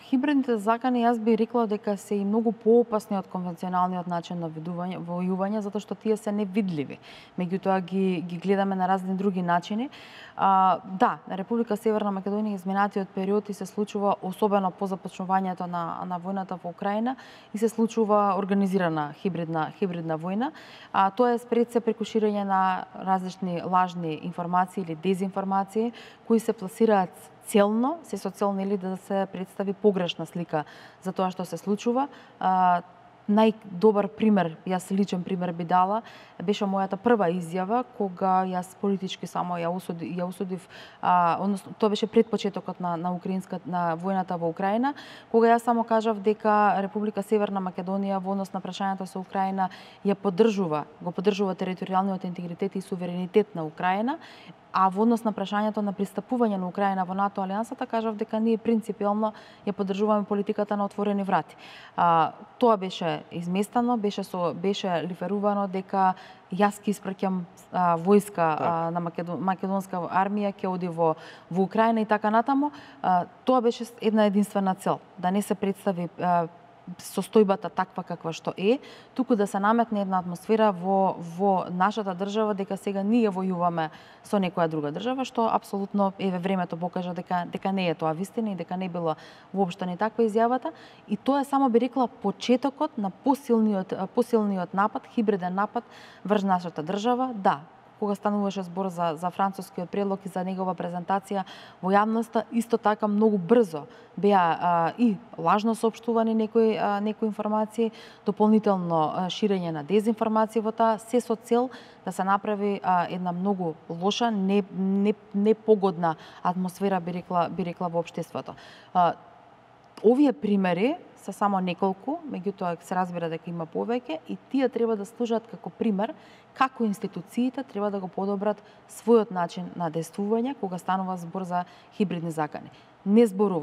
Хибридните закани, јас би рекла дека се и многу поопасни од конвенционалниот начин на војување, затоа што тие се невидливи. Меѓутоа ги гледаме на разни други начини. Да, на Република Северна Македонија изминатиот период и се случува, особено по започнувањето на војната во Украина, и се случува организирана хибридна војна. Тоа е спред се преку ширење на различни лажни информации или дезинформации кои се пласираат целно, се со цел да се представи погрешна слика за тоа што се случува. Најдобар пример, јас личен пример би дала, беше мојата прва изјава кога јас политички само ја осудив, односно тоа беше пред почетокот на војната во Украина, кога јас само кажав дека Република Северна Македонија во однос на прашањето со Украина го поддржува територијалниот интегритет и суверенитет на Украина, а во однос на прашањето на пристапување на Украина во НАТО алијансата, кажав дека ние принципиелно ја поддржуваме политиката на отворени врати. Тоа беше изместено, беше лиферувано дека јас ќе испраќам војска на македонска армија, ќе оди во Украина и така натаму. Тоа беше една единствена цел, да не се представи состојбата таква каква што е, туку да се наметне една атмосфера во нашата држава дека сега ние војуваме со некоја друга држава, што апсолутно времето покажа дека не е тоа вистина и дека не било воопшто ни таква изјавата. И тоа е, само би рекла, почетокот на посилниот напад, хибриден напад врз нашата држава. Да, кога стануваше збор за францускиот предлог и за негова презентација во јавноста, исто така многу брзо беа и лажно соопштувани некои информации, дополнително ширење на дезинформации во таа, се со цел да се направи една многу лоша, непогодна атмосфера, би рекла во општеството. Овие примери се само неколку, меѓутоа се разбира дека има повеќе, и тие треба да служат како пример како институциите треба да го подобрат својот начин на действување кога станува збор за хибридни закани. Не зборува